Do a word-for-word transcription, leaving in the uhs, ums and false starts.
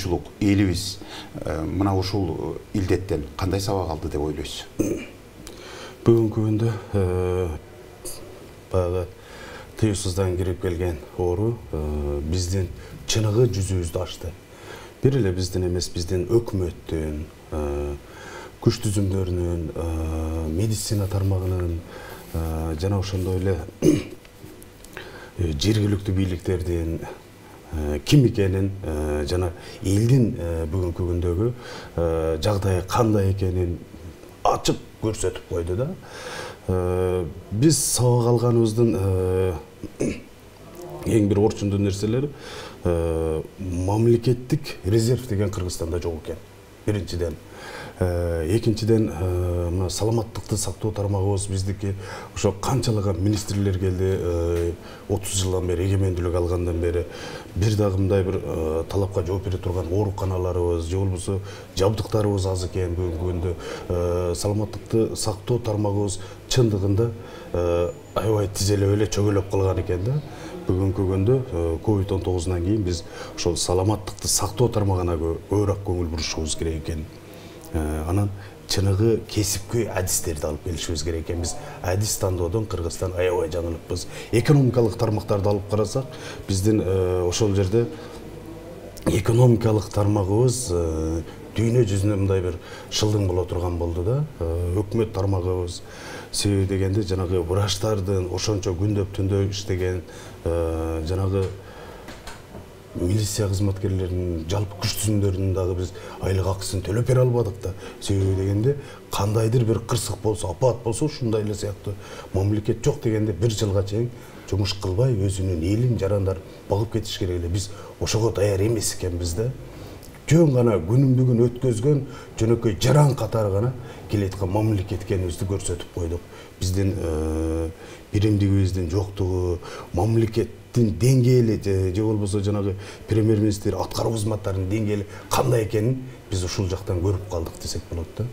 коомчулук элибиз мына ушул илдеттен кандай сабак алды деп ойлойсуз? Бүгүнкү күндө баягы тыюусуздан кирип келген оору биздин чыныгы жүзүбүздү ачты. Бир эле биздин эмес, биздин өкмөттүн, күч түзүмдөрүнүн, медицина тармагынын жана ошондой эле жергиликтүү бийликтердин ким экенин жана элдин бүгүнкү күндөгү жагдайы кандай экенин ачык көрсөтүп койду да. Биз сабак алганыбыздын эң бир орчундуу нерселери мамлекеттик резерв деген Кыргызстанда жок экен. Биринчиден, экинчиден, мына саламаттыкты сактоо тармагыбыз биздики ошо канчалаган министрлер келди, отуз жылдан бери, эгемендүүлүк алгандан бери бир дагы мындай бир талапка жооп бере турган ооруканаларыбыз, же болбосо жабдыктарыбыз аз экен. Бүгүнкү күндө саламаттыкты сактоо тармагыбыз чындыгында аябай тизелеп эле чөгөлөп калган экен да. Бүгүнкү күндө ковид он тогузунан кийин биз ошол саламаттыкты сактоо тармагына көбүрөөк көңүл бурушубуз керек экен. Анан чыныгы кесипкөй адистерди алып келишибиз керек экен. Биз адис тандоодон Кыргызстан аябай жаңылыппыз. Экономикалык тармактарды алып карасак, биздин ошол жерде экономикалык тармагыбыз дүйнө жүзүнө мындай бир шылдың боло турган болду да. Өкмөт тармагыбыз себеби дегенде жанагы врачтардын ошончо күндөп түндө иштеген жанагы милиция кызматкерлеринин жалпы күч түзүмдөрүнүн дагы биз айлык акысын төлөп бере албадык да. Себеби дегенде кандайдыр бир кырсык болсо, апат болсо ушундай эле сыяктуу мамлекет жок дегенде бир жылга чейин жумуш кылбай өзүнүн элин жарандарын багып кетиш керек эле. Биз ошого даяр эмес экенбиз да. Жөн гана күнүн бүгүн өткөзгөн жөнөкөй жаран катары гана келеаткан мамлекет экенибизди көрсөтүп койдук. Биздин биримдигибиздин жоктугу, мамлекеттин деңгээли же болбосо жанагы премьер-министр аткаруу кызматтарынын деңгээли кандай экенин биз ушул жактан көрүп калдык десек болот да.